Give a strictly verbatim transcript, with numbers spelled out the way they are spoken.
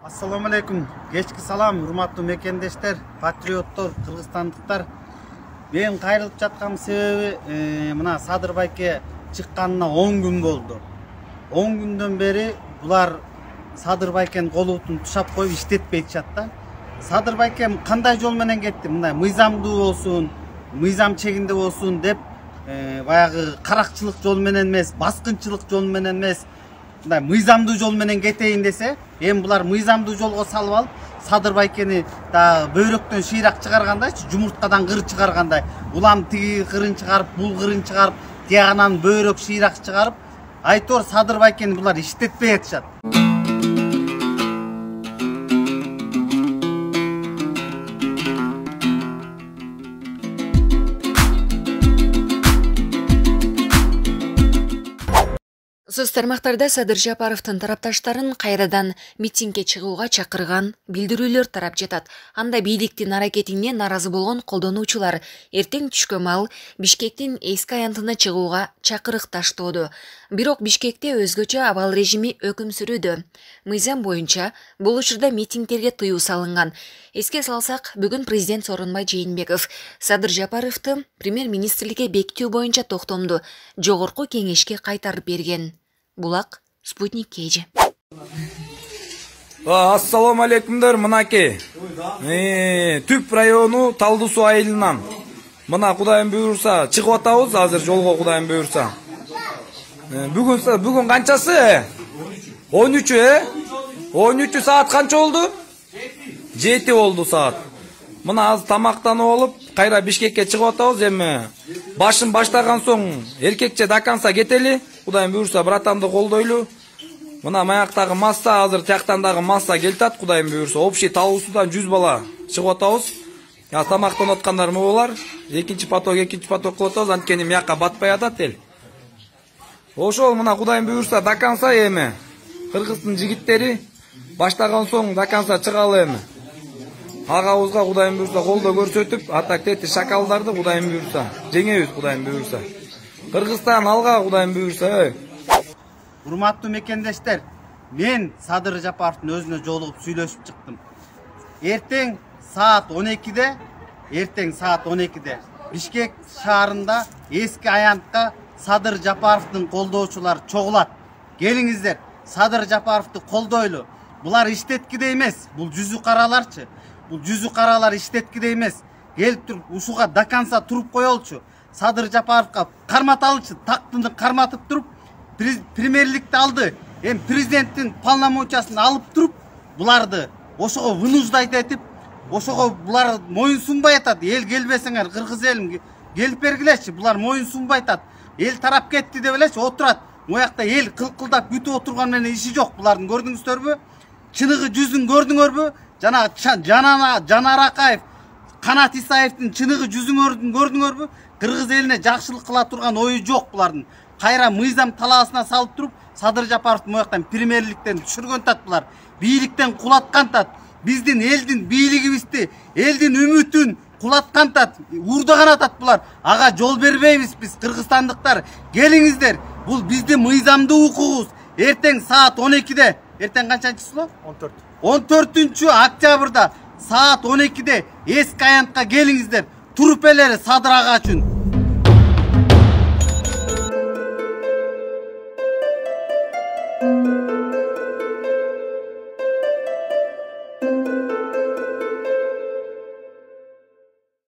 Assalamu alaikum. Kechki salam, урматтуу мекендештер, патриоттор, кыргызстандыктар. Мен кайрылып жаткан себеби мына Садыр байке чыкканына он күн болду. он күндөн бери булар Садыр байкенин колубутун тушап коюп иштетпей жатат да. Садыр байке кандай жол менен кетти? Мындай мыйзамдуу болсун, мыйзам чегинде болсун деп баягы каракчылык жол менен эмес, баскынчылык жол менен эмес, мындай мыйзамдуу жол менен кетейин десе, эми булар мыйзамдуу жолго салып алып, Садыр байкени да бөйрөктөн шыйрак чыгаргандайчы, жумурткадан кыр чыгаргандай, улам тиги кырын чыгарып, бул кырын чыгарып, тиягынан бөйрөк шыйрак чыгарып, айтор Садыр байкени булар иштетпей атышат. Соц тармактарда Садыр Жапаровдун тарапташтарын кайрадан митингге чыгууга чакырган билдирүүлөр тарап жатат. Анда бийликтин аракетине наразы болгон колдонуучулар эртең түшкө маал Бишкектин эски аянтына чыгууга чакырык таштоодо. Бирок Бишкекте өзгөчө абал режими өкүм сүрүүдө. Мыйзам боюнча бул учурда митингтерге тыюу салынган. Эске салсак, бүгүн президент Сооронбай Жээнбеков Садыр Жапаровду премьер-министрликке бекитүү боюнча токтомду жогорку кеңешке кайтарып берген. Булак, Спутник Кежи. Ассаламу алейкумдар, мынаке. Түп району Талды суу айылынан. Мына Кудайым буйрса чыгып атабыз азыр жолго, Кудайым буйрса. Бүгүн бүгүн канчасы? он үчү, э? он үчү саат канча болду? жети болду саат. Мына азыр тамактанып алып, кайра Бишкекке чыгып атабыз. Эми башын баштаган соң эркекче даканса кетели. Кудайым буйрса братамды колдойлу. Мына маяктагы масса азыр тияктан дагы масса келтат. Кудайым буйрса общий Талуусудан жүз бала чыгып атабыз. Я тамактанып аткандар могулар. Экинчи поток, экинчи поток кылып атабыз. Анткени мыякка батпай атат эл. Ошол мына Кудайым буйрса даканса эми кыргыздын жигиттери баштаган соң даканса чыгалы эми. Агабызга Кудайым буйрса колдоо көрсөтүп, атак тети шакалдарды Кудайым буйрса жеңебиз, Кудайым буйрса. Кыргызстан алга, Кудайым буйрса. Урматтуу мекендештер, мен Садыр Жапаровдун өзүнө жолугуп сүйлөшүп чыктым. Эртең саат он экиде, эртең саат он экиде Бишкек шаарында эски аянтка Садыр Жапаровдун колдоочулары чогулат. Келиңиздер, Садыр Жапаровду колдойлу. Булар иштеткиде эмес, бул жүзү караларчы. Бул жүзү каралар иштеткиде эмес. Келип туруп ушуга даканса туруп коелчу. Садыр Жапаровга карматалычы, тактыны карматып туруп, премьерликти алды. Эми президенттин полномочиясын алып туруп, буларды ошого вынуждать этип, ошого булар моюн сунбай атат. Эл келбесеңер, кыргыз элим келип бергилечи. Булар моюн сунбай атат. Эл тарап кетти деп элечи, отурат. Моякта эл кылкылдап күтүп отурган менен иши жок. Булардын көрдүңүздөрбү? Чыныгы жүзүн көрдүңөрбү? Жана Жанана Жанаракаев, Канат Исаевдин чыныгы жүзүн көрдүңөрбү? Кыргыз элине жакшылык кыла турган ою жок булардын. Кайра мыйзам талаасына салып туруп, Садыр Жапаровду мояктан премьерликтен түшүргөн тат булар. Бийликтен кулаткан тат. Биздин элдин бийлигибизди, элдин үмүтүн кулаткан тат, уурдаган атат булар. Ага жол бербейбиз биз кыргызстандыктар. Келиңиздер, бул биздин мыйзамдуу укугубуз. Эртең саат он экиде, эртең канчанчы число? он төрт. он төртүнчү октябрда саат он экиде эски аянтка келиңиздер. Туруп элери Садыр ага үчүн.